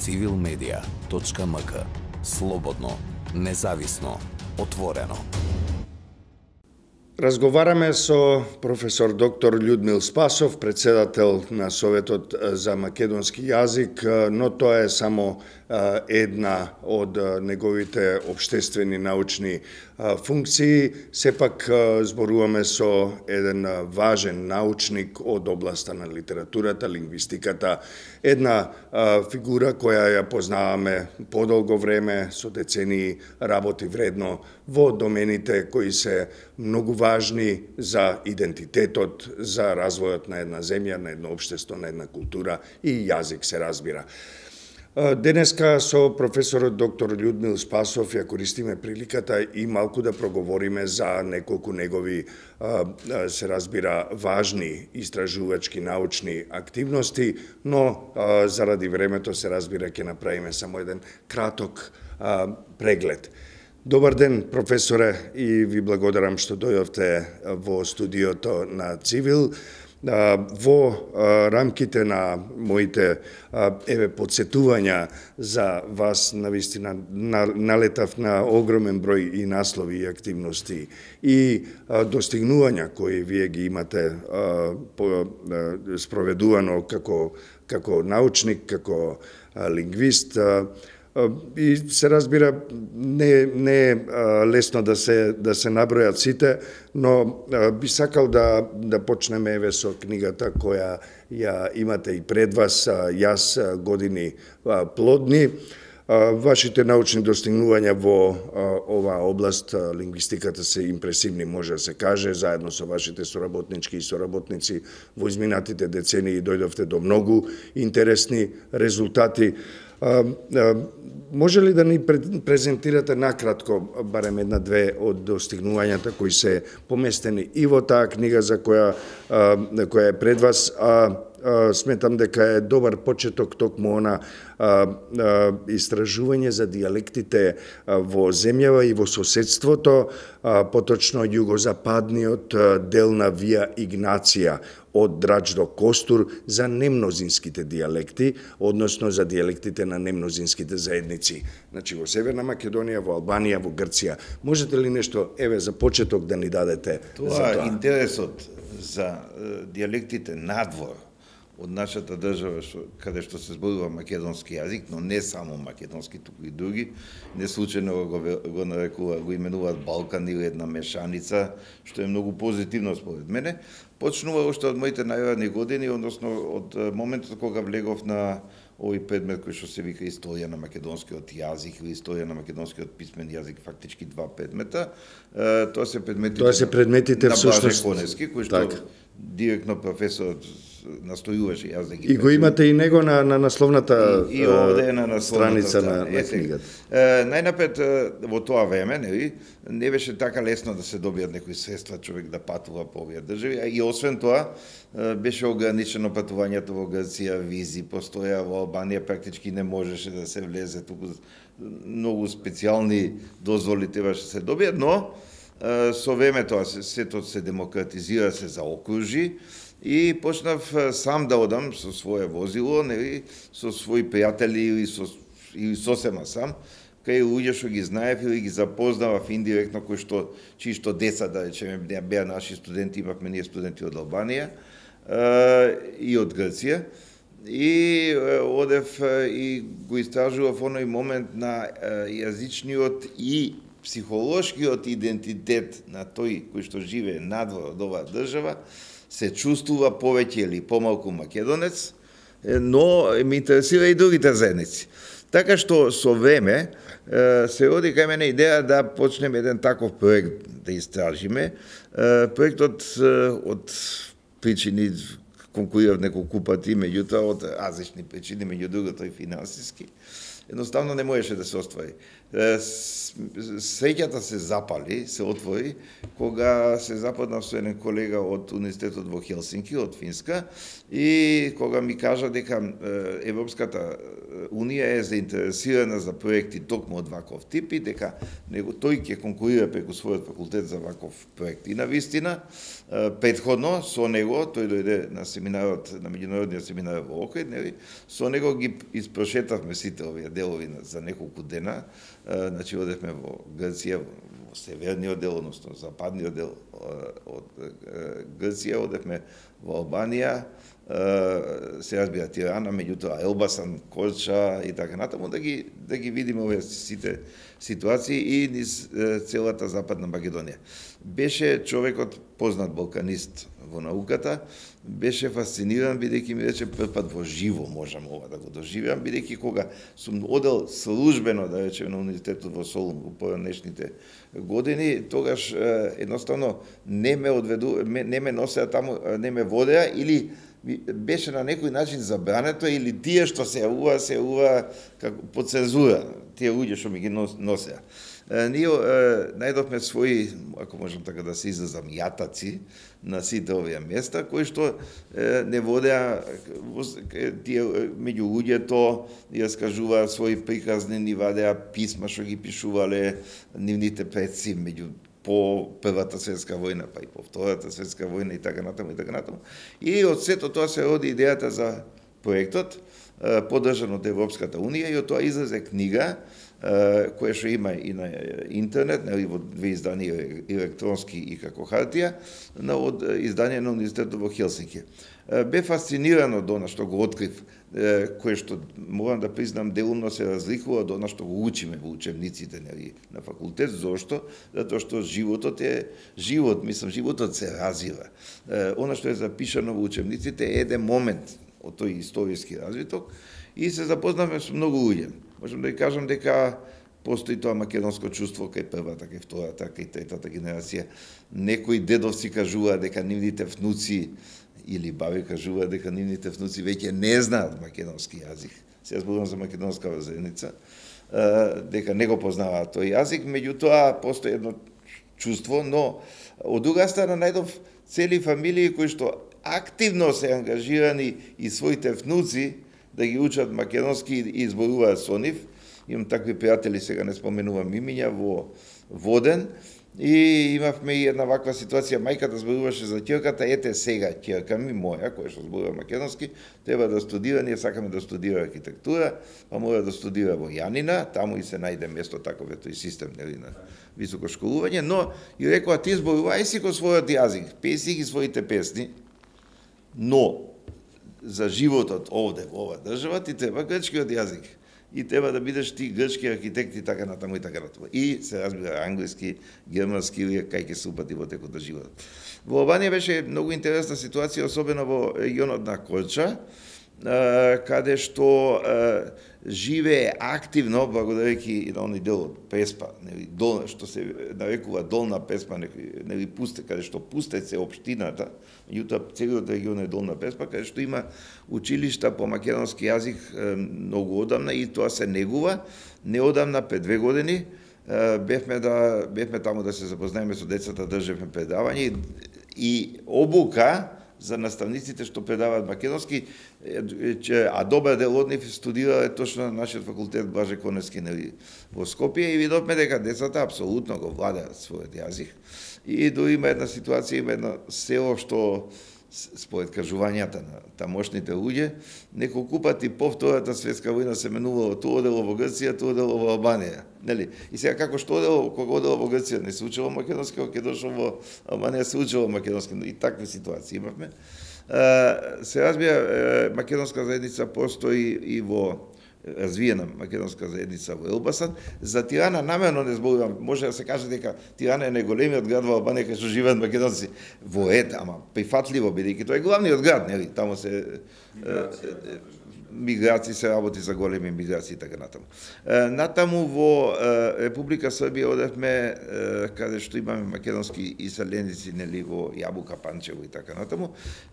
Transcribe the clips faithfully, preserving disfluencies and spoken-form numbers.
цивил медија точка ем ка. Слободно, независно, отворено. Разговараме со професор доктор Људмил Спасов, председател на Советот за македонски јазик, но тоа е само една од неговите општествени научни функции. Сепак зборуваме со еден важен научник од областа на литературата, лингвистиката, една фигура која ја познаваме подолго време, со децении работи вредно во домените кои се многу важни за идентитетот, за развојот на една земја, на едно општество, на една култура и јазик се разбира. Денеска со професорот доктор Људмил Спасов ја користиме приликата и малку да проговориме за неколку негови, се разбира, важни истражувачки научни активности, но заради времето се разбира ќе направиме само еден краток преглед. Добар ден, професоре, и ви благодарам што дојдовте во студиото на Цивил. Во рамките на моите еве подсетувања за вас, навистина налетав на огромен број и наслови и активности и достигнувања кои вие ги имате спроведувано како како научник, како лингвист. И се разбира, не, не е лесно да се да се набројат сите, но би сакал да да почнеме еве со книгата која ја имате и пред вас, Јас години плодни. Вашите научни достигнувања во оваа област, лингвистиката, се импресивни, може да се каже. Заедно со вашите соработнички и соработници во изминатите децении дојдовте до многу интересни резултати. А, а, може ли да ни презентирате накратко барем една-две од достигнувањата кои се поместени и во таа книга за која, а, која е пред вас, а, а сметам дека е добар почеток токму она а, а, истражување за дијалектите во земјава и во соседството, а, поточно југозападниот дел на Вија Игнација од Драч до Костур за немнозинските дијалекти, односно за дијалектите на немнозинските заедници. Значи во Северна Македонија, во Албанија, во Грција. Можете ли нешто еве за почеток да ни дадете тоа, за тоа? Интересот за дијалектите надвор од нашата држава, што, каде што се зборува македонски јазик, но не само македонски, туку и други, не случајно го, го нарекува, го именуваат Балкан или една мешаница, што е многу позитивно според мене. Почнува уште од моите најранни години, односно од моментот кога влегов на овој предмет кој што се вика историја на македонскиот јазик или историја на македонскиот писмен јазик, фактички два предмета. Тоа се предметите, Тоа се предметите на Блаже всушност Коневски, кој што так. Директно професорот настојуваше јас да ги И го имате и него на, на насловната и, и овде е на страница на, на книгата. Најнапред во тоа време, нели, не беше така лесно да се добијат некои средства човек да патува по овие држави, и освен тоа беше ограничено патувањето во Грција, визи постоја, во Албанија практички не можеше да се влезе, туку многу специјални дозволи требаше да се добијат, но со времето сето се демократизира, се заокружи и почнав сам да одам со свое возило, нели, со своји пријатели или со или сосема сам, кај луѓе што ги знаев или ги запознавав индиректно, кои што чии што деца, да речеме, беа наши студенти, имавме ние студенти од Албанија и од Грција. И одев и го истражував оној момент на јазичниот и психолошкиот идентитет на тој кој што живее надвор од оваа држава, се чувствува повеќе или помалку македонец, но ме интересира и другите заедници. Така што со време се роди кај мене идеја да почнеме еден таков проект да истражиме. Проектот од причини конкурирав неколку пати, меѓутоа од различни причини, меѓу другото и финансиски, едноставно не можеше да се оствари. Среќата се запали, се отвори, кога се запознав со еден колега од Универзитетот во Хелсинки, од Финска, и кога ми кажа дека Европската Унија е заинтересирана за проекти токму од ваков тип и дека него тој ќе конкурира преку својот факултет за ваков проект. И на вистина, претходно со него, тој дојде на семинарот, на меѓународниот семинар во Охрид, нели, со него ги испрошетавме сите овие делови за неколку дена. Значи, одевме во Грција, во северниот дел, односно западниот дел од Грција, одевме во Албанија, се разбира Тирана, меѓутоа Елбасан, Корча и така натаму, да ги, да ги видиме овие сите ситуации и низ целата Западна Македонија. Беше човекот познат балканист во науката, беше фасциниран, бидејќи ми рече првпат во живо можам ова да го доживеам, бидејќи кога сум одел службено, да речем, на универзитетот во Солун во поранешните години, тогаш едноставно не ме одведу, не ме носеа таму, не ме водеа или беше на некој начин забрането или тие што се јавува, се јавува како по цензура, тие луѓе што ми ги носеа. Ние најдовме своји, ако можам така да се изразам, јатаци на сите овие места, кои што не водеа тие меѓу луѓето, ја скажуваа своји приказни, ни вадеа писма што ги пишувале нивните предци меѓу по Првата светска војна, па и по Втората светска војна и така натаму и така натаму. И од сето тоа се роди идејата за проектот, поддржан од Европската унија, и од тоа излезе книга која што има и на интернет, нели, во две изданија електронски и како хартија, на од издание на Универзитетот во Хелсинки. Бе фасциниран од она што го открив, кое што морам да признам делумно се разликува од она што го учиме во учебниците, нели, на факултет. Зошто? Затоа што животот е живот, мислам, животот се развива. Она што е запишано во учебниците е еден момент од тој историски развиток и се запознавме со многу луѓе. Можам да ја кажам дека постои тоа македонско чувство кај првата, кај втората, кај третата генерација. Некои дедовци кажуваа дека нивните внуци или баби кажува дека нивните внуци веќе не знаат македонски јазик. Сега зборувам за македонска заедница, дека не го познаваат тој јазик, меѓутоа постои едно чувство, но од друга страна најдов цели фамилии кои што активно се ангажирани и своите внуци да ги учат македонски и зборуваат со нив. Имам такви пријатели, сега не споменувам имиња, во Воден. И имавме и една ваква ситуација, мајката зборуваше за ќерката, ете сега ќерка ми моја, која што зборува македонски, треба да студира, ние сакаме да студира архитектура, па мора да студира во Јанина, таму и се најде место таков ето и систем, нели, на високо школување, но и рекоа ти зборувај си го својот јазик, пеј си ги своите песни, но за животот овде во ова држава ти треба грчкиот јазик. И треба да бидеш ти грчки архитект и така натаму и така натаму. И се разбира англиски, германски или кај ќе се упати во текот на животот. Во Албанија беше многу интересна ситуација, особено во регионот на Корча, каде што живее активно, благодарејќи на оној дел од Преспа, нели, дол, што се нарекува Долна Преспа, нели, пусте, каде што Пустец е општината, меѓутоа целиот регион е Долна Преспа, каде што има училишта по македонски јазик многу одамна и тоа се негува. Неодамна, пред две години, бевме да бевме таму да се запознаеме со децата, држевме предавање и обука за наставниците што предаваат македонски, а добар дел од нив студирале точно на нашиот факултет Блаже Коневски, нели, во Скопје, и видовме дека децата апсолутно го владеат својот јазик. И дури има една ситуација, има едно село што според кажувањата на тамошните луѓе, неколку пати по Втората светска војна се менувало тоа дело во Грција, тоа дело во Албанија, нели? И сега како што дело, кога одело во Грција не се учело македонски, кога ќе дошло во Албанија се учело македонски, и такви ситуации имавме. Се разбира, македонска заедница постои и во развиена македонска заедница во Елбасан. За Тирана намерно не зборувам, може да се каже дека Тирана е најголемиот град во Албанија кај што живеат македонци. Во ет, ама прифатливо бидејќи тоа е главниот град, нели? Таму се миграции се работи за големи миграции и така натаму. Натаму во Република Србија одевме каде што имаме македонски иселеници, нели, во Јабука, Панчево и така натаму,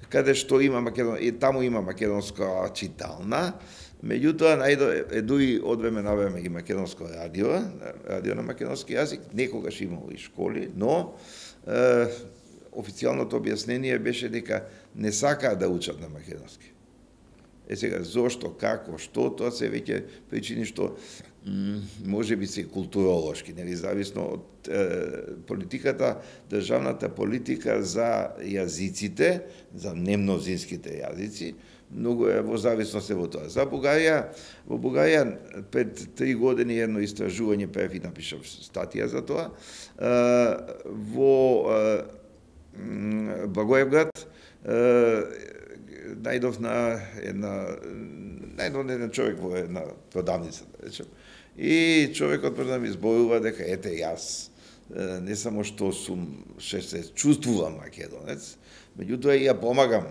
каде што има македон и таму има македонска читална. Меѓутоа, најдо е дуи од време на време и македонско радио, радио на македонски јазик, некогаш имало и школи, но е, официјалното објаснение беше дека не сакаат да учат на македонски. Е сега, зошто, како, што, тоа се веќе причини што може би се културолошки, нели, зависно од е, политиката, државната политика за јазиците, за немнозинските јазици, многу е во зависност е во тоа. За Бугарија, во Бугарија пред три години едно истражување прев и напишав статија за тоа. Е, во е, Благоевград најдов на една најдов на еден човек во една продавница, да речем. И човекот може да ми зборува дека ете јас не само што сум ше се чувствувам македонец, меѓутоа и ја помагам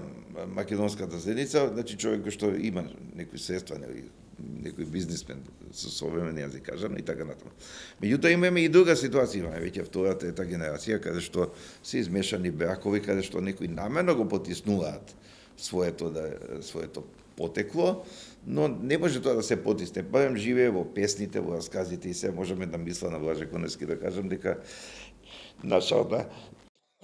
македонската заедница, значи човек кој што има некои средства, нели, некој бизнисмен со современ јазик кажам и така натаму. Меѓутоа имаме и друга ситуација, имаме веќе втората трета генерација каде што се измешани бракови, каде што некои намерно го потиснуваат своето да своето потекло, но не може тоа да се потисне. Барем живее во песните, во расказите и се можеме да мисла на Блаже Коневски да кажам дека нашата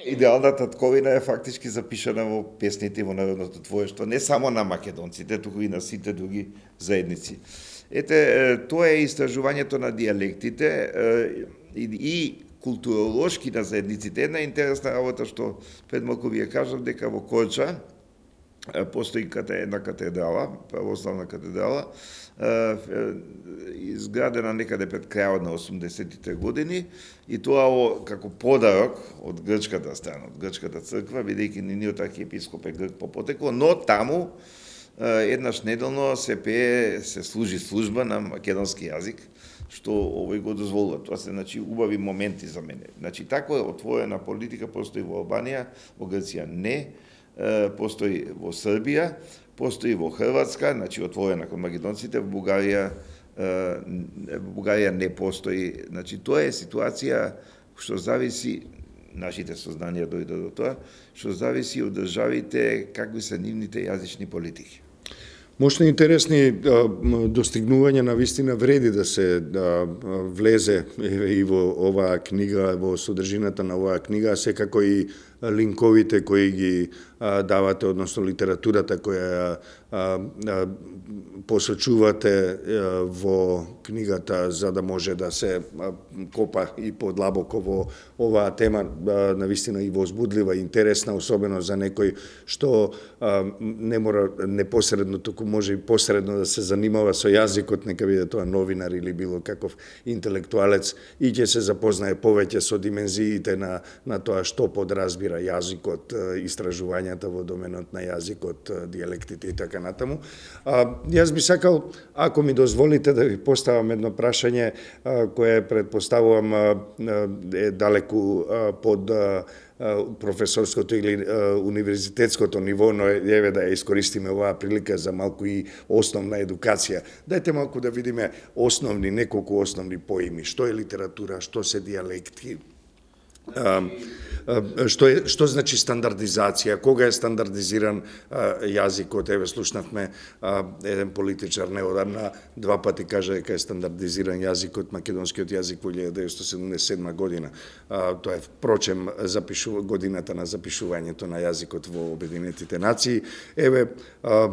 идеална татковина е фактички запишана во песните и во народното творештво, не само на македонците, туку и на сите други заедници. Ете, тоа е истражувањето на дијалектите и, и културолошки на заедниците. Една интересна работа што пред малку ви ја кажав дека во Корча постои една катедрала, православна катедрала, изградена некаде пред крајот на осумдесетите години, и тоа како подарок од грчката страна, од грчката црква, бидејќи нивниот архиепископ е грк по потекло, но таму еднаш неделно се пее, се служи служба на македонски јазик, што овој го дозволува. Тоа се, значи, убави моменти за мене. Значи, таква е отворена политика постои во Албанија, во Грција не, постои во Србија, постои во Хрватска, значи отворена кон македонците, во Бугарија, во Бугарија не постои. Значи тоа е ситуација што зависи, нашите сознанија дојде до тоа, што зависи од државите какви се нивните јазични политики. Мощно интересни а, достигнувања на вистина вреди да се да, влезе и во оваа книга, во содржината на оваа книга, секако и линковите кои ги а, давате, односно литературата која а, а, посочувате а, во книгата за да може да се а, копа и подлабоко во оваа тема, а, навистина и возбудлива и интересна, особено за некој што а, не мора непосредно, туку може и посредно да се занимава со јазикот, нека биде тоа новинар или било каков интелектуалец, и ќе се запознае повеќе со димензиите на, на тоа што подразбира јазикот, истражувањата во доменот на јазикот, дијалектите и така натаму. А, јас би сакал, ако ми дозволите, да ви поставам едно прашање а, кое предпоставувам а, е далеку а, под а, професорското или а, универзитетското ниво, но еве да ја искористиме оваа прилика за малку и основна едукација. Дајте малку да видиме основни, неколку основни поими, што е литература, што се дијалекти, а, Што, е, што значи стандардизација, кога е стандардизиран а, јазикот, еве слушнавме а, еден политичар неодамна два пати кажа дека е стандардизиран јазикот, македонскиот јазик во илјада деветстотини седумдесет и седма година. А, тоа е впрочем запишу, годината на запишувањето на јазикот во Обединетите нации. Еве, а,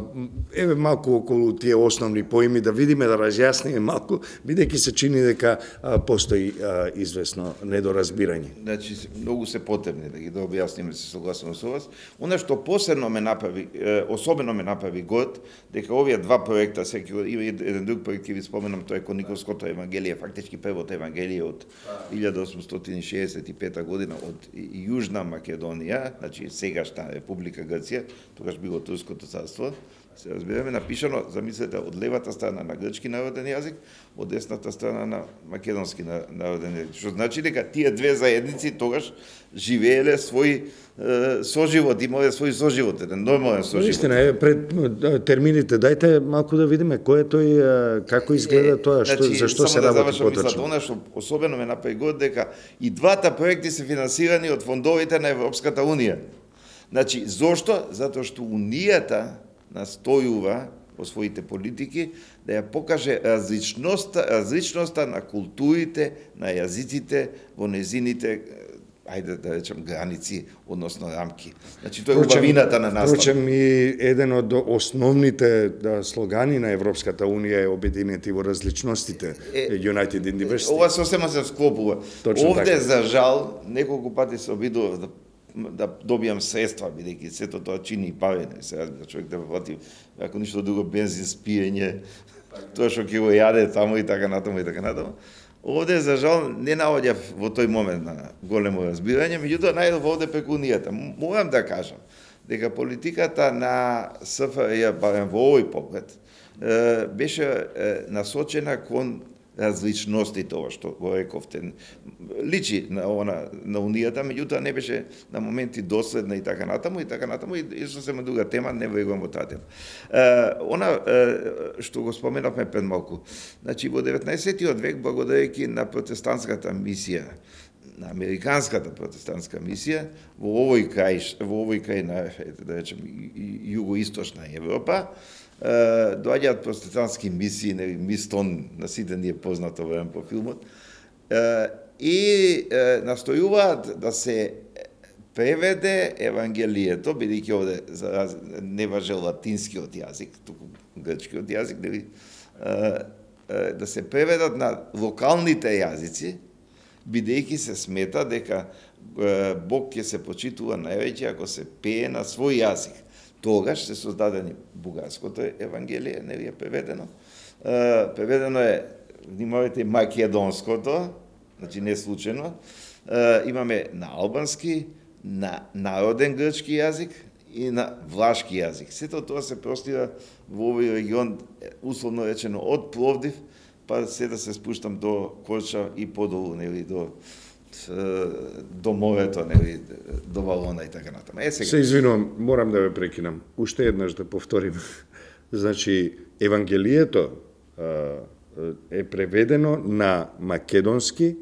еве малку околу тие основни поими да видиме, да разјасниме малку, бидејќи се чини дека а, постои а, известно недоразбирање. Значи, многу се потребни да ги да објасниме, се согласувам со вас. Она што посебно ме направи, особено ме направи год, дека овие два проекта, секи има еден друг проект ќе ви споменам, тоа е Кониковското евангелие, фактички првото евангелие од илјада осумстотини шеесет и пета година од Јужна Македонија, значи сегашна Република Грција, тогаш било Турското царство. Се разбираме, напишано, замислете, од левата страна на грчки народен јазик, од десната страна на македонски народен јазик. Што значи дека тие две заедници тогаш живееле свој е, соживот, имале свој соживот, еден нормален соживот. Истина е, пред термините, дајте малку да видиме кој е тој, како изгледа тоа, што, значи, зашто се да работи поточно. Она што особено ме направи год дека и двата проекти се финансирани од фондовите на Европската Унија. Значи, зошто? Затоа што Унијата настојува во своите политики да ја покаже различноста, различноста на културите, на јазиците во незините ајде да речем граници, односно рамки. Значи тоа е убавината на настав. Впрочем и еден од основните да, слогани на Европската унија е обединети во различностите, е, United in Diversity. Ова сосема се склопува. Точно Овде така. за жал неколку пати се обидував да да добијам средства, бидејќи сето тоа чини и пари, не сега да човек да плати, ако ништо друго бензин, спиење, тоа што ќе го јаде таму и така натаму и така натаму. Овде за жал не наоѓав во тој момент на големо разбирање, меѓутоа најдов овде преку унијата. Морам да кажам дека политиката на СФРЈ, барем во овој поглед, беше насочена кон различностите, ова што го рековте. Личи на она на унијата, меѓутоа не беше на моменти доследна и така натаму и така натаму и, и сосема друга тема, не влегувам во таа тема. Е, она е, што го споменавме пред малку. Значи во деветнаесеттиот век, благодарејќи на протестантската мисија, на американската протестантска мисија во овој крај, во овој крај на, да речем, југоисточна Европа, доаѓаат протестантски мисии, Мистон, на сите ни е познато време по филмот, и настојуваат да се преведе Евангелието, бидејќи овде не важи латинскиот јазик, туку грчкиот јазик, да се преведат на локалните јазици, бидејќи се смета дека Бог ќе се почитува највеќе ако се пее на свој јазик. Тогаш се создадени бугарското Евангелие, не е преведено. Uh, преведено е, внимавајте, македонското, значи не случајно. Uh, имаме на албански, на народен грчки јазик и на влашки јазик. Сето тоа се простира во овој регион, условно речено, од Пловдив, па се да се спуштам до Корча и подолу, нели, до до морето, нели, до Валона и така натаму. Е, сега. Се извинувам, морам да ве прекинам. Уште еднаш да повторим. Значи, Евангелието е преведено на македонски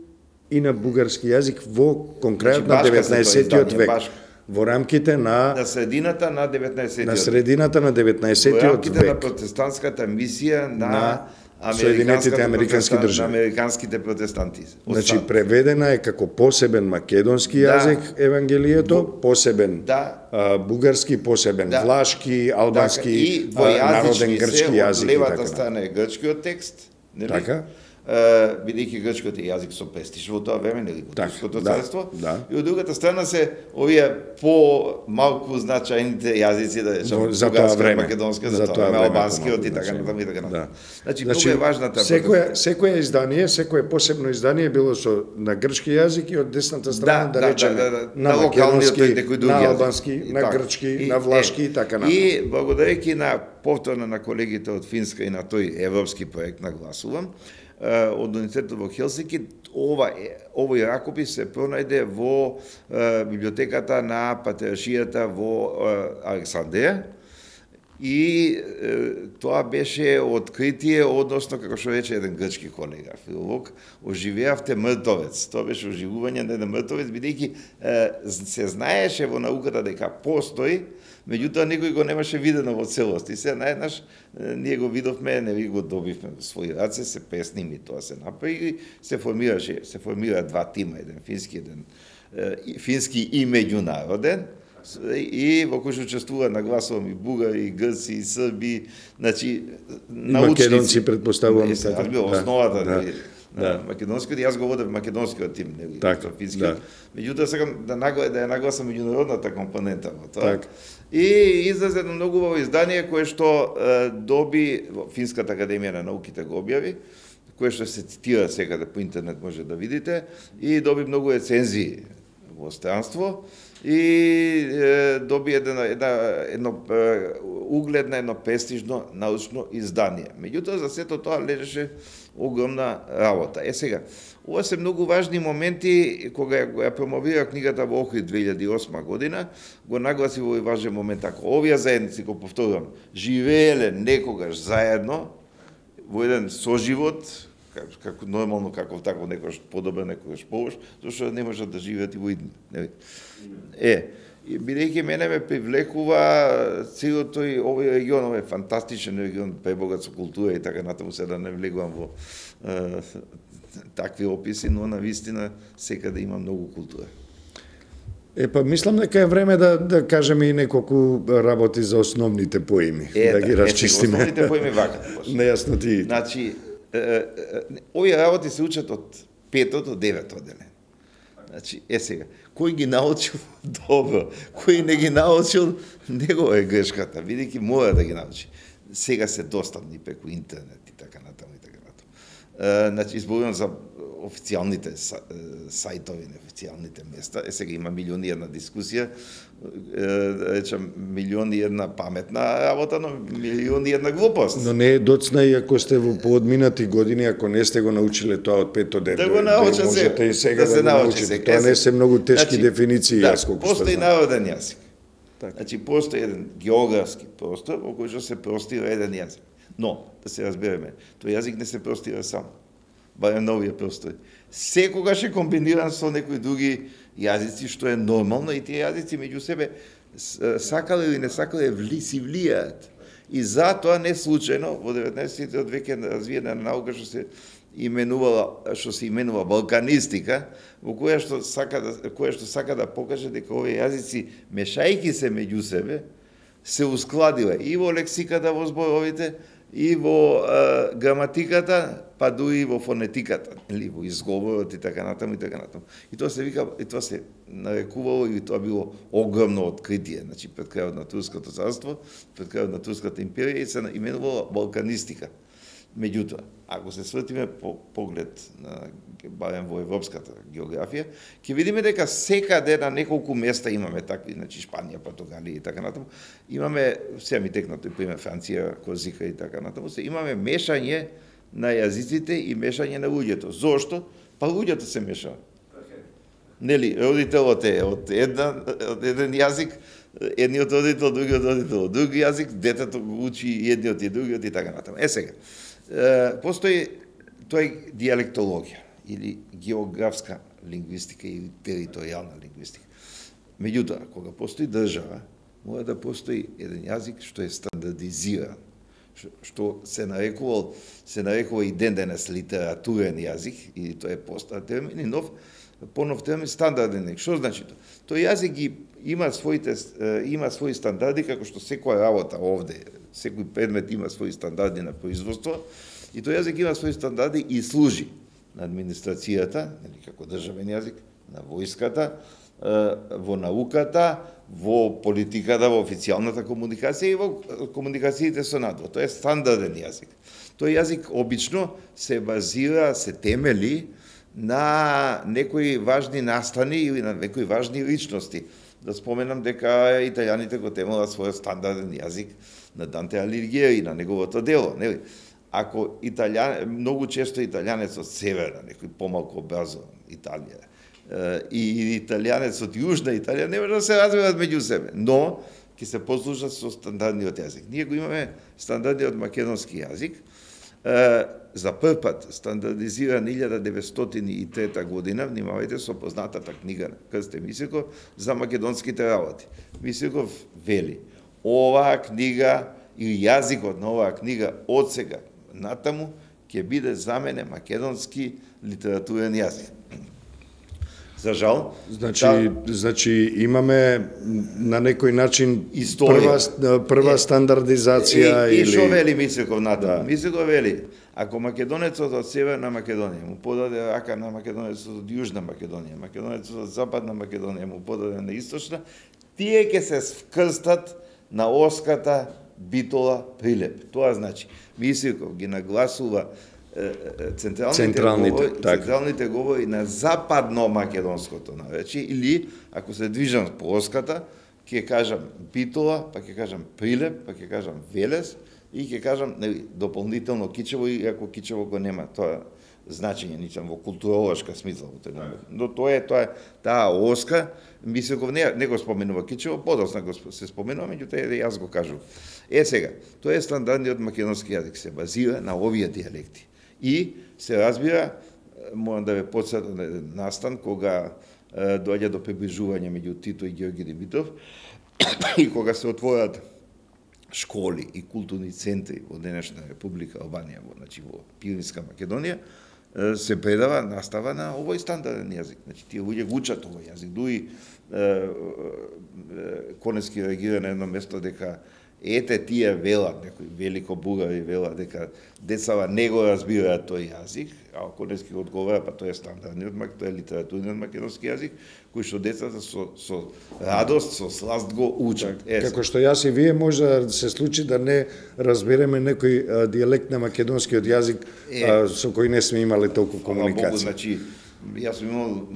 и на бугарски јазик во конкретно значи, деветнаесеттиот век. Башко. Во рамките на на средината на деветнаесеттиот на средината на деветнаесеттиот век. Во рамките век. на протестантската мисија на, на Соединетите американски држави. На американските протестанти. Значи преведена е како посебен македонски да. јазик Евангелието, посебен да. а, бугарски, посебен да. влашки, албански, и а, народен грчки јазик. Од левата страна е грчкиот текст, нели? Така. Uh, бидејќи грчкиот јазик со престиж во тоа време, нели, во Турското царство, да, да. И од другата страна се овие по малку значајните јазици, да речем, за тоа време, македонска, за тоа време, албанскиот и така натаму и така натаму. Да. Значи, значи многу е важна таа. Секој секој издание, секое посебно издание било со на грчки јазик и од десната страна да, да речеме да, да, да, на македонски, на албански, на так, грчки, и, на влашки и така натаму. И благодарејќи на повторно на колегите од Финска и на тој европски проект нагласувам, од универзитетот во Хелсинки, ова овој ракопис се пронајде во е, библиотеката на патриаршијата во е, Александрија и е, тоа беше откритие, односно, како што рече еден грчки колега, филолог, оживеавте мртовец. Тоа беше оживување на еден мртовец, бидејќи се знаеше во науката дека постои, меѓутоа никој го немаше видено во целост. И се наеднаш ние го видовме, не ви го добивме во своји раце, се пресними, тоа се направи и се формираше, се формира два тима, еден фински, еден е, фински и меѓународен, и во кој што учествува, нагласувам, и бугари, и грци, и срби, значи научници. Македонци, предпоставувам. Е, така, да, основата, да, да, да. македонскиот, јас го водев македонскиот тим, нели, така, финскиот. Да. Меѓутоа сакам да нагла да ја нагласам меѓународната компонента во тоа. Так. И излезе едно многу убаво издание кое што е, доби Финската академија на науките го објави, кое што се цитира секаде по интернет може да видите, и доби многу рецензии во странство и е, доби едно, едно, едно е, угледно, едно престижно научно издание. Меѓутоа за сето тоа лежеше огромна работа. Е сега, ова се многу важни моменти кога ја промовира книгата во Охрид две илјади и осма година, го нагласи во овој важен момент ако овие заедници, го повторувам, живееле некогаш заедно во еден соживот, како нормално, како тако некојаш подобро, некојаш полош, зашто не можат да живеат и во идни. Е, бидејќи мене ме привлекува целиот тој овој регион, овој фантастичен регион, пребогат со култура и така натаму, се да не влегувам во е, такви описи, но на вистина секаде има многу култура. Е, па мислам дека е време да, да кажеме и неколку работи за основните поими, Е, да ги расчистиме. Основните поими вака. Нејасноти. Значи, е, е, е, овие работи се учат од петото до девето одделение. Значи, е сега, кој ги научил добро, кој не ги научил, негова е грешката, бидејќи мора да ги научи. Сега се достапни преку интернет и така натаму и така натаму. Е, значи, изборувам за официјалните сајтови, неофицијалните места. Е, сега има милиони една дискусија, речам, милиони една паметна работа, но милиони една глупост. Но не е доцна и ако сте во поодминати години, ако не сте го научиле тоа од пето ден. Да го научат да можете и сега да да, се да научи научите. сега. Тоа не се многу тешки Значи, дефиниции, да, јас колку што постои знам. народен јазик. Така. Значи, постои еден географски простор во кој што се простира еден јазик. Но, да се разбереме, тој јазик не се простира сам. Барем на овие простори. Секогаш е комбиниран со некои други јазици, што е нормално, и тие јазици меѓу себе сакале или не сакале вли, си влијаат. И затоа не случајно во деветнаесеттите веќе развиена наука што се именувала, што се именува балканистика, во која што сака да која што сака да покаже дека овие јазици мешајќи се меѓу себе се ускладиле и во лексиката, во зборовите, и во е, граматиката, па дури и во фонетиката, или во изговорот и така натаму и така натаму. И тоа се вика, и тоа се нарекувало, и тоа било огромно откритие, значи пред крајот на Турското царство, пред крајот на Турската империја, и се именувало балканистика. Меѓутоа, ако се свртиме по поглед на барем во европската географија, ќе видиме дека секаде на неколку места имаме такви, значи Шпанија, Португалија и така натаму, имаме, сега ми текна тој пример Франција, Корзика и така натаму, се имаме мешање на јазиците и мешање на луѓето. Зошто? Па луѓето се мешаат. Нели, родителот е од една од еден јазик, едниот родител, другиот родител од друг јазик, детето го учи едниот и другиот и така натаму. Е сега, постои тој диалектологија или географска лингвистика или територијална лингвистика. Меѓутоа, кога постои држава, мора да постои еден јазик што е стандардизиран, што се нарекувал, се нарекува и ден денес литературен јазик, и тоа е постар термин, и нов, понов термин стандарден. Што значи тоа? Тој јазик ги има своите има своји стандарди, како што секоја работа овде, секој предмет има своји стандарди на производство, и тој јазик има своји стандарди и служи на администрацијата, нели како државен јазик, на војската, во науката, во политиката, во официјалната комуникација и во комуникациите со надвор. Тоа е стандарден јазик. Тој јазик обично се базира, се темели на некои важни настани или на некои важни личности. Да споменам дека италијаните го темелат својот стандарден јазик на Данте Алигјери, на неговото дело, нели? Ако италијан, многу често италијанец од северна, некој помалку образован Италија, и италијанец од јужна Италија не може да се разберат меѓу себе, но ќе се послужат со стандардниот јазик. Ние го имаме стандардниот македонски јазик, за прв пат стандардизиран илјада деветстотини и трета година, внимавајте, со познатата книга на Крсте Мисирков за македонските работи. Мисирков вели, оваа книга и јазикот на оваа книга од сега натаму ќе биде за мене македонски литературен јазик. За жал, Значи, да, значи имаме на некој начин Историја. прва прва Е, стандардизација и, и или што вели Мисирков натаму? Да. Мисирков вели, ако македонецот од Северна Македонија му подаде рака на македонецот од Јужна Македонија, македонецот од Западна Македонија му подаде на Источна, тие ќе се вкрстат на оската Битола Прилеп. Тоа значи, Мисирков ги нагласува централните, Централните, говори, така. централните говори на западно македонското наречие, или ако се движам по оската, ќе кажам Битола, па ќе кажам Прилеп, па ќе кажам Велес и ќе кажам нели дополнително Кичево, и ако Кичево го нема тоа значење ничам во културолошка смисла во тој момент. Но тоа е тоа е таа оска, Мисирков не, не го споменува Кичево, подоцна го се споменува, меѓутоа јас го кажувам. Е сега, тоа е стандардниот македонски јазик, се базира на овие дијалекти. И се разбира, морам да ве потсетам на еден настан кога е, доаѓа до приближување меѓу Тито и Ѓорги Димитров и кога се отворат школи и културни центри во денешна Република Албанија, во, значи во Пиринска Македонија, се предава настава на овој стандарден јазик. Значи тие луѓе го учат овој јазик. Дуи Конески реагира на едно место дека ете тие велат, некои велико бугари велат дека децава не го разбираат тој јазик, а Конески одговара, па тоа е стандардниот, тоа е литературниот македонски јазик, кој што децата со, со радост, со сласт го учат. Е, како што јас и вие може да се случи да не разбереме некој дијалект на македонскиот јазик е, а, со кој не сме имали толку комуникација. Богу, значи, јас сум имал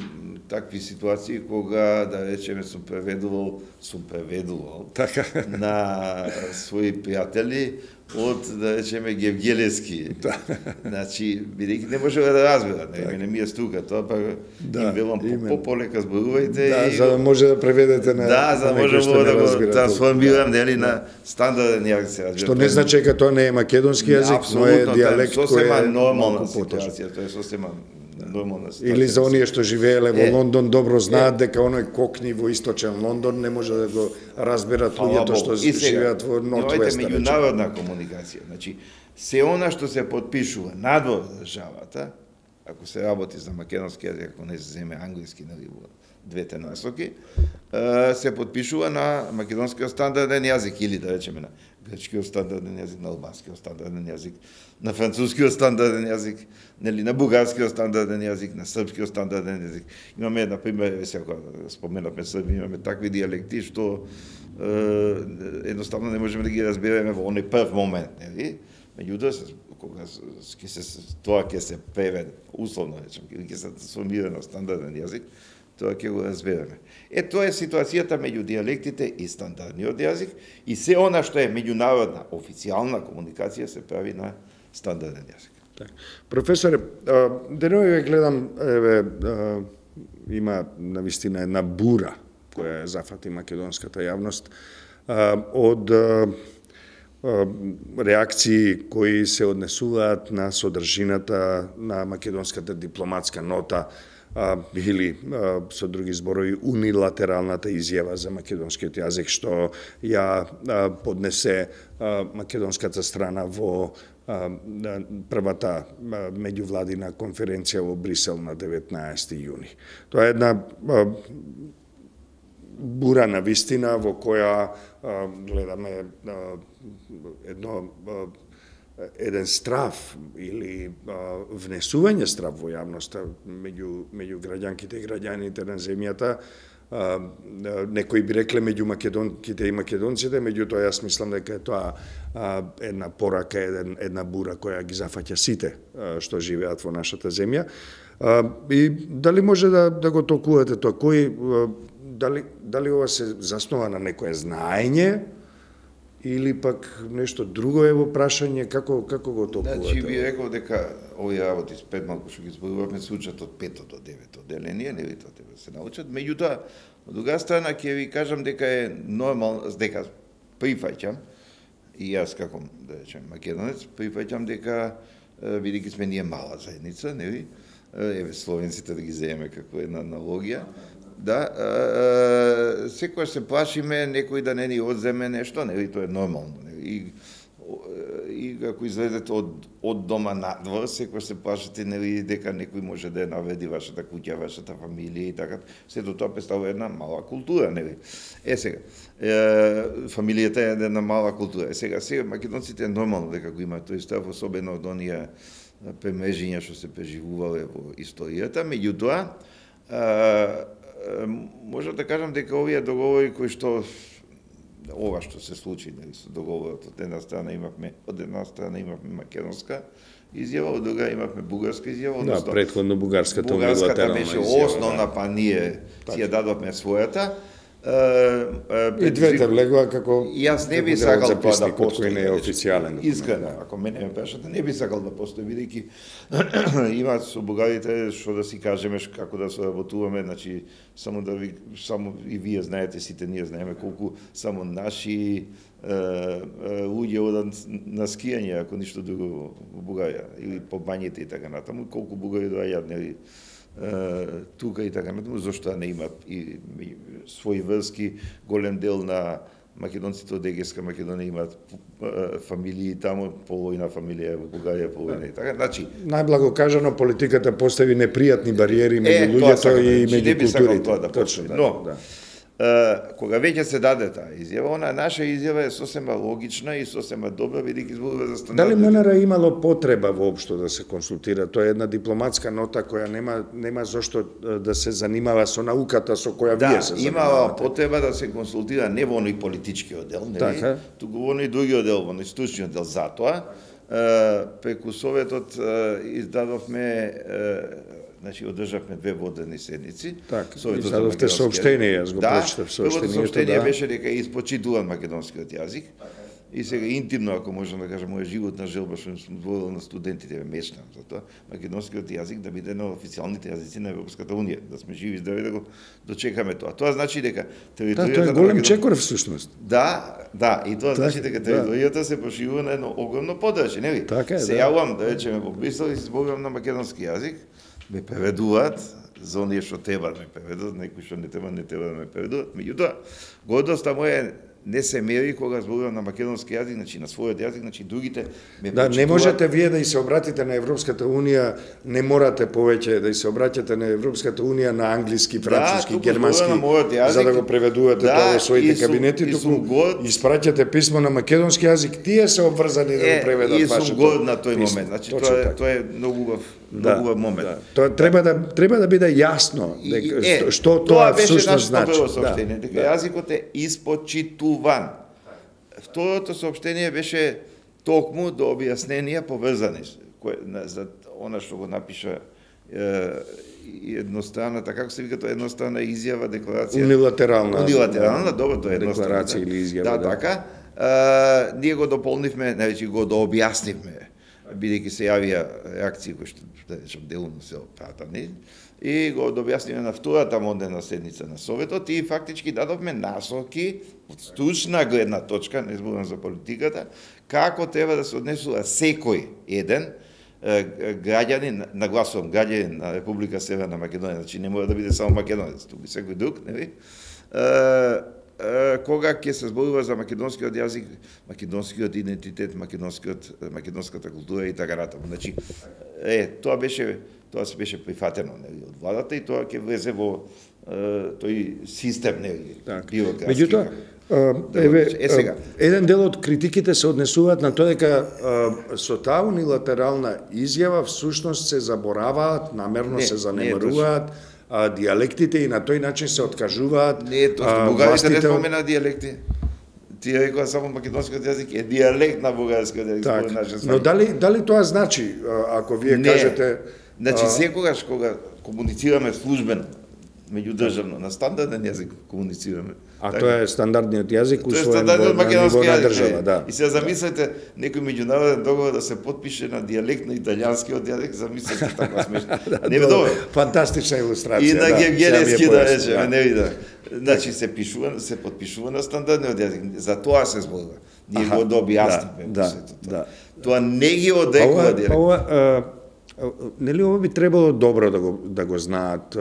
такви ситуации кога, да речеме, сум преведувал, сум преведувал така на своји пријатели од, да речеме, Гевгелевски. Да. Значи, бидејќи не може да разберат, не, не ми е струка тоа, па да, им велам по-полека зборувајте. Да, и за да може да преведете на да, за да може да го трансформирам, нели, на стандарден јазик. Што не значи дека тоа не е македонски јазик, но е дијалект кој е нормална ситуација, тоа е сосема нормална ситуација. Или за оние што живееле во Лондон добро знаат дека оној кокни во источен Лондон не може да го разберат луѓето што живеат во Нортвест. Меѓународна комуникација, значи се она што се потпишува надвор државата, ако се работи за македонски јазик, ако не се земе англиски, нели, во двете насоки, се потпишува на македонскиот стандарден јазик или да речеме на грчкиот стандарден јазик, на албанскиот стандарден јазик, на францускиот стандарден јазик, нели, на бугарскиот стандарден јазик, на српскиот стандарден јазик. Имаме, на пример, сега споменавме Срби, имаме такви дијалекти што е, едноставно не можеме да ги разбереме во оној прв момент, нели? Меѓутоа, кога ќе се тоа ќе се преведе, условно речем, ќе се трансформира на стандарден јазик, тоа ќе го разбереме. Е, тоа е ситуацијата меѓу дијалектите и стандардниот јазик и се она што е меѓународна официјална комуникација се прави на стандарден јазик. Так. Професоре, денови ве гледам, еве, има навистина една бура која зафати македонската јавност од реакции кои се однесуваат на содржината на македонската дипломатска нота или со други зборови унилатералната изјава за македонскиот јазик што ја поднесе македонската страна во првата меѓувладина конференција во Брисел на деветнаесети јуни. Тоа е една бура на вистина во која гледаме едно еден страв или а, внесување страв во јавноста меѓу меѓу граѓанките и граѓаните на земјата. А, некои би рекле меѓу македонките и македонците, меѓутоа јас мислам дека е тоа а, една порака, еден, една бура која ги зафаќа сите а, што живеат во нашата земја. А, и дали може да, да го толкувате тоа? Кој, а, дали, дали ова се заснова на некое знаење, или пак нешто друго е во прашање, како како го толкувате? Значи би рекол дека овие работи спет малку што ги зборувавме се учат од пето до девето деление, нели тоа треба да се научат. Меѓутоа, од друга страна ќе ви кажам дека е нормално, дека прифаќам и јас како да речем македонец, прифаќам дека бидејќи сме ние мала заедница, нели? Еве словенците да ги земеме како една аналогија. Да, секојаш се плашиме некој да не ни одземе нешто, нели, тоа е нормално. И, и ако излезете од, од дома надвор, секојаш се плашите, нели, дека некој може да ја навреди вашата куќа, вашата фамилија и така. Сето тоа представува една мала култура, нели. Е сега, е, фамилијата е една мала култура. Е сега, сега македонците е нормално дека го имаат тој став, особено од оние премежиња што се преживувале во историјата, меѓутоа, може да кажам дека овие договори кои што ова што се случи, нели, со договорот, од една страна имавме, од една страна имавме македонска изјава, од друга имавме бугарска изјава, да, претходно бугарската бугарската беше основна, да. Па ние си ја дадовме својата. И двете влегува како јас не би сакал тоа да постои, не е официјален. Искрено, ако мене ме прашате, не би сакал да постои, бидејќи има со бугарите што да си кажеме како да соработуваме, значи само да ви само и вие знаете, сите ние знаеме колку само наши луѓе одат на скијање, ако ништо друго во Бугарија или по бањите и така натаму, колку бугари доаѓаат, нели, тука и така натаму, зошто не имат и своји врски, голем дел на македонците од Егејска Македонија имаат фамилии таму, половина фамилија во Бугарија, половина и така. Значи, најблаго кажано, политиката постави непријатни бариери меѓу луѓето и меѓу културите. Да точно, да. Но, да. Кога веќе се даде таа изјава, она наша изјава е сосема логична и сосема добра, бидејќи зборува за стандард. Дали МНР имало потреба воопшто да се консултира? Тоа е една дипломатска нота која нема нема зошто да се занимава со науката со која да, вие се занимавате. Да, имала потреба да се консултира не во оној политички оддел, нели? Така. Туку во оној други оддел, во оној стручни оддел. Затоа преку Советот издадовме, значи одржавме две водени седници. Така, издадовте соопштение, јас го прочитав соопштението. Да, соопштение беше дека е испочитуван македонскиот јазик. И сега интимно, ако можам да кажам, моја животна желба што сум зборил на студентите, мечтам за тоа, македонскиот јазик да биде на официјалните јазици на Европската унија, да сме живи и здрави да го дочекаме тоа. Тоа значи дека територијата да, тоа е голем Македон... чекор всушност. Да, да, и тоа так, значи дека територијата да. се проширува на едно огромно подрачје, нели? Така е, се да. јавувам, да речеме, во Брисел и се зборувам на македонски јазик, ме преведуваат за оние што треба да ме преведат, некои што не треба, не треба да ме преведуваат. Меѓутоа, гордоста моја не се мери кога зборувам на македонски јазик, значи на својот јазик, значи другите ме да, почитуваат. Не можете вие да и се обратите на Европската унија, не морате повеќе да и се обраќате на Европската унија на англиски, француски, да, германски, јазик, за да го преведувате да, тоа во своите сум, кабинети, туку год... испраќате писмо на македонски јазик, тие се обврзани да го преведат вашето. И сум год на тој момент, значи тоа е, тоа е многу убав, да, многу убав момент. Да. Тоа треба да треба да биде јасно дека е, што тоа всушност значи. Тоа беше нашето дека да. Јазикот е испочитуван. Второто соопштение беше токму до објасненија поврзани кој за она што го напиша е, едностранната, како се вика тоа, едностранна изјава, декларација. Унилатерална. Унилатерална, добро, тоа е едностранна. Декларација или изјава. Да, да. така. А, ние го дополнивме, највеќе го дообјаснивме, бидејќи се јавија реакции кои што, да речем, делумно се опратани, и го дообјаснивме на втората модерна седница на Советот и фактички дадовме насоки од стручна гледна точка, не зборувам за политиката, како треба да се однесува секој еден граѓанин, нагласувам граѓанин на Република Северна Македонија, значи не мора да биде само македонец, туку секој друг, нели? Кога ќе се зборува за македонскиот јазик, македонскиот идентитет, македонскиот македонската култура и така натаму. Значи, е, тоа беше тоа се беше прифатено, нели, од владата и тоа ќе влезе во е, тој систем, нели, бирократски. Меѓутоа, еве, е сега, еден дел од критиките се однесуваат на тоа дека со таа унилатерална изјава всушност се забораваат, намерно не, се занемаруваат а, дијалектите и на тој начин се откажуваат. Не, тоа бугарите не спомена дијалекти. Ти рекоа само македонскиот јазик е дијалект на бугарскиот јазик. Так, но дали дали тоа значи, ако вие не, кажете... Значи, секогаш кога комуницираме службено, меѓудржавно, на стандарден јазик комуницираме. А така, тоа е стандардниот јазик усвоен во ниво на држава, да. И сега замислете некој меѓународен договор да се потпише на дијалект на италијанскиот јазик, замислете така смешно. Не е добро. Фантастична илустрација. И на да, гевгелески да речеме, не вида. Значи се пишува, се потпишува на стандардниот јазик. За тоа се зборува. Ние го дообјаснивме да, да. Тоа не ги одрекува дијалект. Нели ова би требало добро да го да го знаат,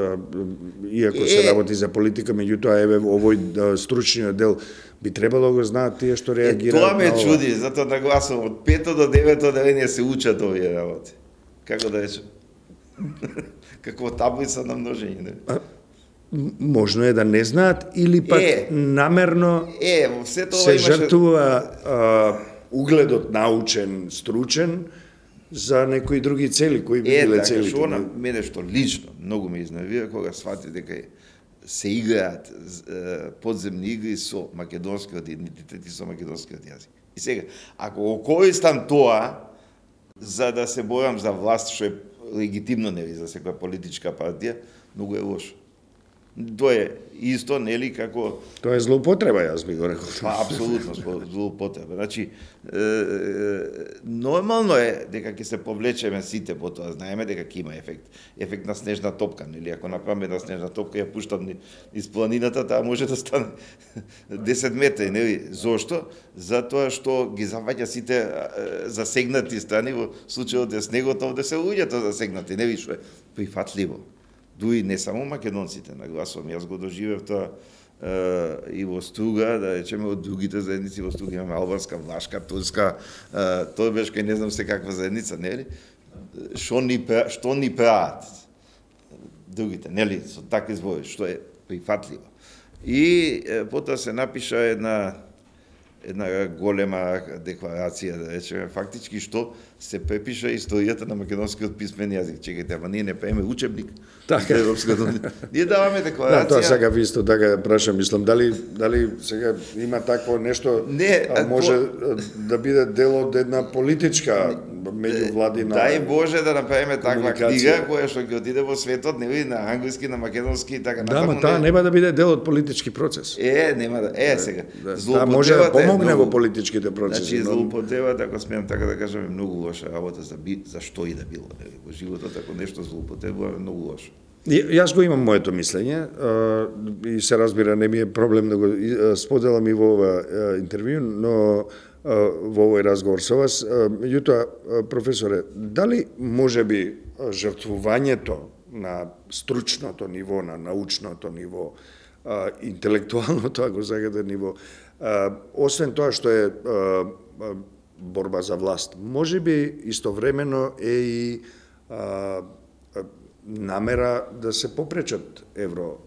иако се работи за политика, меѓутоа еве овој стручниот дел би требало да го знаат тие што реагираат. Е, тоа ме чуди, затоа нагласувам од пето до девето одделение се учат овие работи. Како да речем? Како таблица на множење, не? А, можно е да не знаат или пак е, намерно е, во се тоа се имаше... жртвува а, угледот научен, стручен за некои други цели, кои би биле цели. Е, така, што на мене што лично многу ме изнервира кога свати дека се играат подземни игри со македонскиот идентитет и со македонскиот јазик. И сега, ако го користам тоа за да се борам за власт, што е легитимно, нели, за секоја политичка партија, многу е лошо. Тоа е исто, нели, како... Тоа е злоупотреба, јас би го рекол. Па, апсолутно злоупотреба. Значи, е, е, нормално е дека ќе се повлечеме сите по тоа. Знаеме дека ќе има ефект. Ефект на снежна топка, нели? Ако направиме една снежна топка, ја пуштам низ планината, таа може да стане десет метри, нели? Зошто? Затоа што ги заваѓа сите засегнати страни, во случајот де снегот, овде се луѓето засегнати, нели, што е прифатливо. Дуи не само македонците, нагласувам, јас го доживев тоа и во Струга, да речеме, од другите заедници во Струга имаме албанска, влашка, турска, тоа беше кај не знам се каква заедница, нели? Што ни што ни прават другите, нели, со такви зборови, што е прифатливо. И потоа се напиша една една голема декларација, да речеме, фактички што се препиша историјата на македонскиот писмен јазик. Чекајте, ама ние не правиме учебник. Така. Ние даваме декларација. Да, тоа сега ви исто така прашам, мислам, дали дали сега има такво нешто, не, а, може то... да биде дел од една политичка меѓувладина. Дај Боже да направиме таква книга која што ќе отиде во светот, нели, на англиски, на македонски и така натаму. Да, ма таа нема да биде дел од политички процес. Е, нема да. Е, сега. Да, да може да помогне во политичките процеси. Значи, злоупотребата, ако смеам така да кажам, е многу лоша работа за би, за што и да било, нели, во животот, ако нешто злоупотребува, е многу лошо. Јас го имам моето мислење и се разбира, не ми е проблем да го споделам и во ова интервју, но во овој разговор со вас. Меѓутоа, професоре, дали може би жртвувањето на стручното ниво, на научното ниво, интелектуалното, ако сакате, ниво, освен тоа што е борба за власт, може би истовремено е и намера да се попречат евро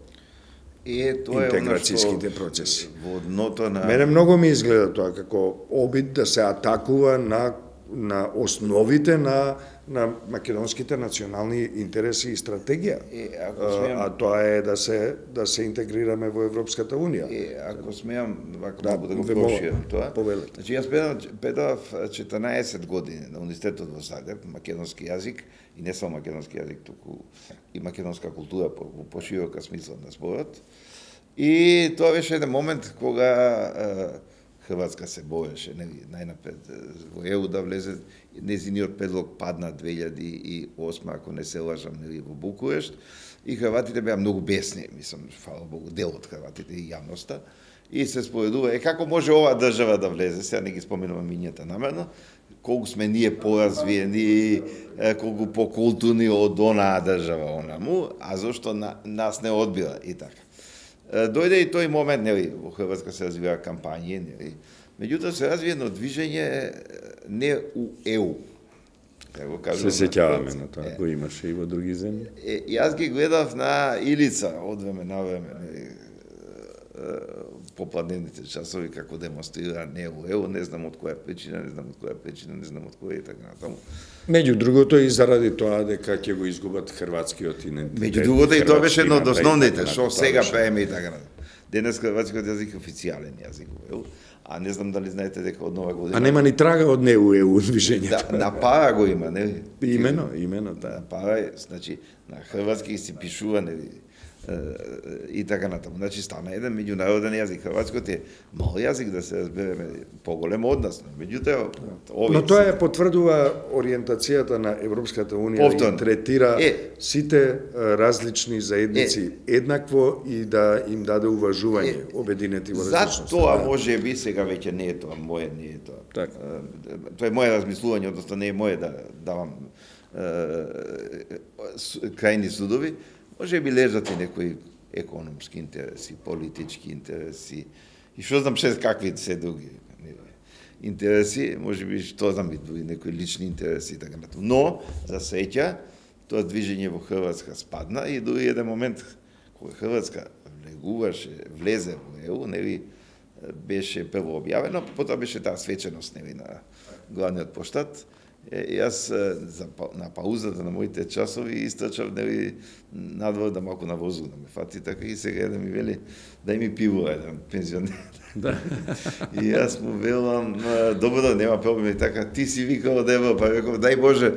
Е, тоа е интеграцијските процеси. Во дното на... Мене многу ми изгледа тоа како обид да се атакува на, на основите на, на македонските национални интереси и стратегија. Е, ако смеам... А, а тоа е да се, да се интегрираме во Европската Унија. Е, ако смеам, вако да, да, да го проширам тоа. Повелете. Значи, јас предав четрнаесет години на Универзитетот во Загреб, македонски јазик, и не само македонски јазик, туку и македонска култура по, по поширока смисла на зборот. И тоа беше еден момент кога е, Хрватска се бореше, нели, најнапред во Е У да влезе. Незиниот предлог падна две илјади и осма, ако не се лажам, нели, во Букурешт. И хрватите беа многу бесни, мислам, фала Богу, дел од хрватите и јавноста. И се споредува, е како може оваа држава да влезе, сега не ги споменувам имињата намерно, колку сме ние поразвиени, колку покултурни од онаа држава онаму, а зошто на, нас не одбира и така. Дојде и тој момент, нели, во Хрватска се развива кампањи, нели, меѓутоа се развија едно движење не у Е У. Се сеќаваме на тоа, го имаше и во други земји. Е, јас ги гледав на Илица од време на време, нели, попладневните часови како демонстрира не во Е У, не знам од која причина, не знам од која причина, не знам од која и така натаму. Меѓу другото и заради тоа дека ќе го изгубат хрватскиот идентитет. Меѓу другото и тоа беше едно од основните, што сега правиме и така натаму. Денес хрватскиот јазик е официјален јазик во Е У, а не знам дали знаете дека од нова година... А нема ни трага од не у Е У движењето. Да, на пара го има, нели? Имено, имено, да. На пара, значи, на хрватски се пишува, нели? И така натаму. Значи, стана еден меѓународен јазик. Хрватскиот е мал јазик, да се разбереме, поголем од нас. Меѓутоа, но тоа е потврдува ориентацијата на Европската Унија и третира е, сите различни заедници е, еднакво и да им даде уважување, е, обединети во различност. За тоа може би сега веќе не е тоа моје, не е тоа. Така. Тоа е моје размислување, одnosno не е моје да давам крајни судови. Може би лежат и некои економски интереси, политички интереси, и што знам ше какви се други интереси, може би што знам и други некои лични интереси и така натаму. Но, за среќа, тоа движење во Хрватска спадна и дури еден момент кога Хрватска влегуваше, влезе во Е У, нели, беше прво објавено, потоа беше таа свеченост, нели, на главниот поштат. Е, јас за, на паузата на моите часови истрчав, нели, надвор да малку на возу да ме фати, така и сега да ми вели дај ми пиво еден пензионер. Да. И јас му велам, добро, нема проблем, така, ти си викал од Европа, реков, дај Боже.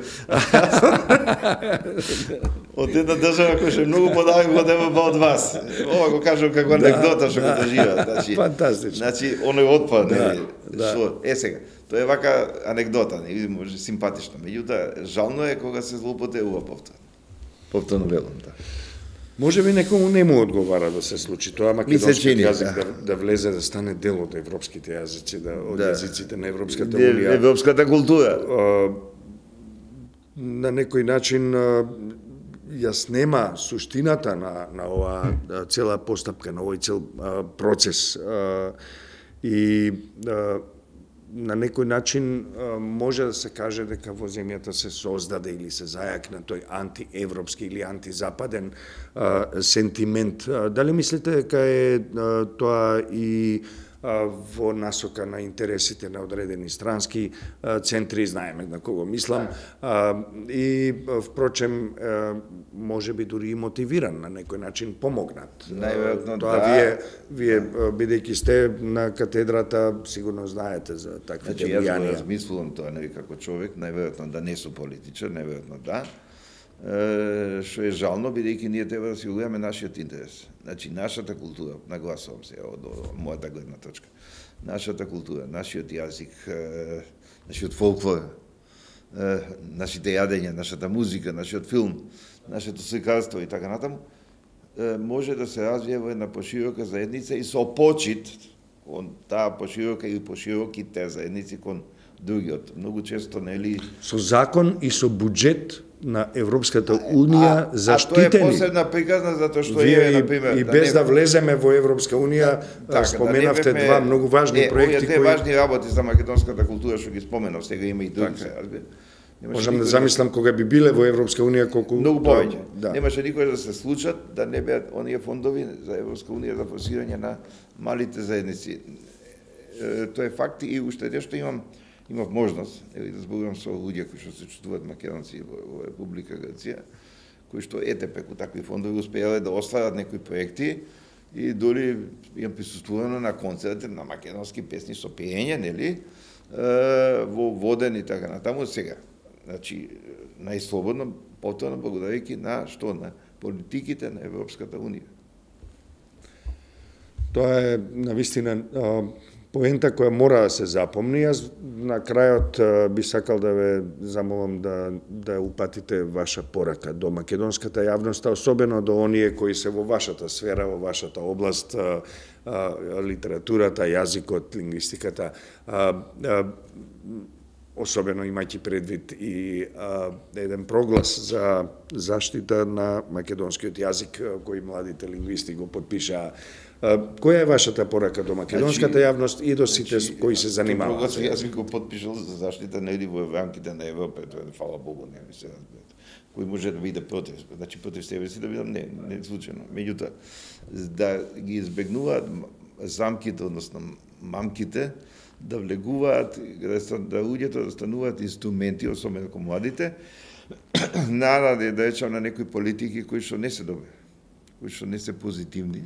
Од една држава која е многу подалек од Европа од вас. Ова го кажам како анекдота што го доживеа. Значи, фантастично. Значи, оној отпад, нели, да. Што, е сега, тоа е вака анекдота, нели, може симпатично, меѓутоа жално е кога се злоупотребува повторно. Повторно велам, да. Може би некому не му одговара да се случи тоа, македонскиот јазик да. да, да влезе, да стане дел од европските јазици, да, од да. јазиците на Европската Унија. Европската култура. А, на некој начин а, ја снема суштината на, на оваа цела постапка, на овој цел а, процес. А, и а, на некој начин а, може да се каже дека во земјата се создаде или се зајакна тој антиевропски или антизападен а, сентимент. А, дали мислите дека е а, тоа и во насока на интересите на одредени странски центри, знаеме на кого мислам, и впрочем може би дури и мотивиран на некој начин помогнат. Најверојатно тоа да. вие вие бидејќи сте на катедрата сигурно знаете за таквите влијанија. Значи, јас го размислувам тоа, нели, како човек, најверојатно да не сум политичар, најверојатно да. Што е жално, бидејќи ние треба да си угледаме нашиот интерес. Значи, нашата култура, нагласувам се од, од мојата гледна точка, нашата култура, нашиот јазик, нашиот фолклор, нашите јадења, нашата музика, нашиот филм, нашето сликарство и така натаму, може да се развие во една поширока заедница и со почит кон таа поширока и пошироките заедници кон другиот. Многу често, нели... Со закон и со буџет на Европската Унија заштитени. А тоа е посебна приказна, затоа што вие, е, например... И без да, не... да влеземе во Европска Унија, така, споменавте да два многу важни не, проекти кои... Не, важни работи за македонската култура, што ги споменав, сега има и други, се разбира. Можам да замислам кога би биле во Европска Унија колку... Многу повеќе. Да. Немаше никој да се случат, да не беат оние фондови за Европска Унија за форсирање на малите заедници. Тоа е факт и уште нешто имам имав можност, нели, да зборувам со луѓе кои што се чувствуваат македонци во, во Република Грција, кои што ете преку такви фондови успеале да остварат некои проекти и дори имам присуствувано на концерти на македонски песни со пеење, нели, во воден и така натаму сега. Значи, најслободно, повторно благодарејќи на што? На политиките на Европската Унија. Тоа е навистина поента која мора да се запомни. Јас на крајот би сакал да ве замолам да, да упатите ваша порака до македонската јавност, особено до оние кои се во вашата сфера, во вашата област, литературата, јазикот, лингвистиката, особено имајќи предвид и а, еден проглас за заштита на македонскиот јазик кој младите лингвисти го подпишаа. Која е вашата порака до македонската јавност и до сите значи, кои се занимаваат? Проглас јас би го подпишал за заштита нели во рамките на Европа, тоа е фала Богу, не ми се разберат. Кој може да биде против, значи против себе си да бидам не, не случајно. Меѓутоа, да ги избегнуваат замките, односно мамките, да влегуваат, да луѓето да стануваат инструменти, особено како младите, наради да речам на некои политики кои што не се добри, кои што не се позитивни,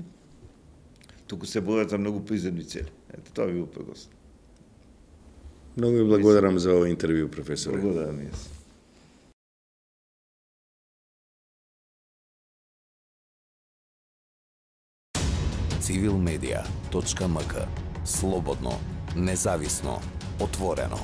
туку се борат за многу приземни цели. Ето тоа ви го прогласам. Многу ви благодарам за овој интервју, професоре. Благодарам и јас. цивил медија точка ем ка. Слободно, независно, отворено.